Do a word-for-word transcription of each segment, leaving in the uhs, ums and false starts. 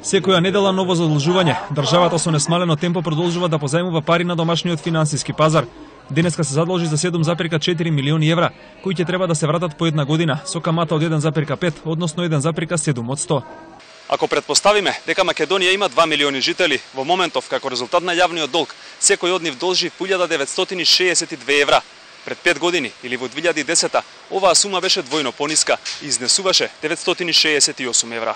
Секоја недела ново задолжување. Државата со несмалено темпо продолжува да позајмува пари на домашниот финансиски пазар. Денеска се задолжи за седум зарез четири милиони евра, кои ќе треба да се вратат по една година, со камата од еден зарез пет, односно еден зарез седум од сто. Ако предпоставиме дека Македонија има два милиони жители, во моментов како резултат на јавниот долг, секој од нив должи илјада деветстотини шеесет и две евра. Пред пет години или во две илјади и десета оваа сума беше двојно пониска и изнесуваше деветстотини шеесет и осум евра.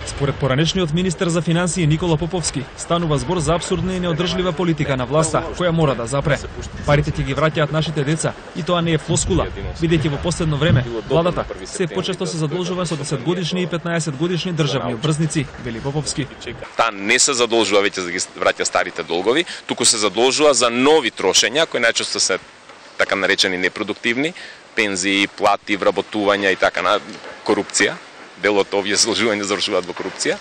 Според поранешниот министер за финансии Никола Поповски, станува збор за апсурдна и неодржлива политика на власта, која мора да запре. Парите ќе ги враќаат нашите деца, и тоа не е флоскула, бидејќи во последно време владата се почесто се задолжува со десетгодишни и петнаесетгодишни државни обврзници, вели Поповски. Таа не се задолжува веќе за да ги враќа старите долгови, туку се задолжува за нови трошења кои најчесто се така наречени непродуктивни, пензии, плати, вработувања и така на корупција. Дел од овие задолжувања завршуваат во корупција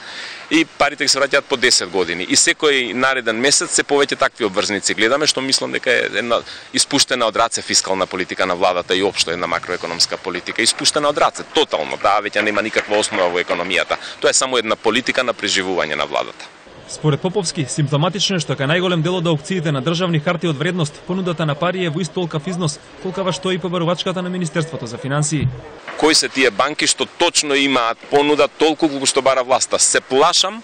и парите се враќаат по десет години. И секој нареден месец се повеќе такви обврзници гледаме, што мислам дека е една испуштена од раце фискална политика на владата и општо една макроекономска политика. Испуштена од раце, тотално, таа веќе нема никаква основа во економијата. Тоа е само една политика на преживување на владата. Според Поповски, симптоматично е што кај најголем дел од аукциите на државни харти од вредност, понудата на пари е во ист толкав износ, колкава што и побарувачката на Министерството за финансии. Кои се тие банки што точно имаат понуда толку колку што бара власта? Се плашам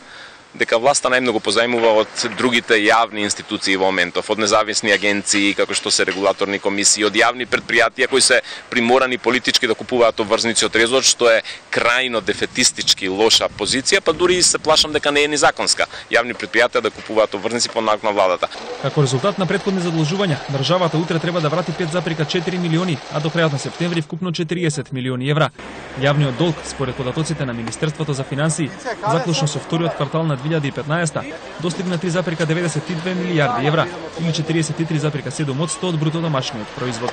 дека власта најмногу позајмува од другите јавни институции во моментов, од независни агенции, како што се регулаторни комисии, од јавни предпријатија кои се приморани политички да купуваат обврзници од трезор, што е крајно дефетистички лоша позиција, па дури се плашам дека не е ни законска. Јавни предпријатија да купуваат обврзници по налог на владата. Како резултат на претходни задолжувања, државата утре треба да врати пет зарез четири милиони, а до крајот на септември вкупно четириесет милиони евра. Јавниот долг, според податоците на Министерството за финансии, заклучно со вториот квартал на две илјади и петнаесета, достигна три зарез деветдесет и две милијарди евра или четириесет и три зарез седум од сто од бруто домашниот производ.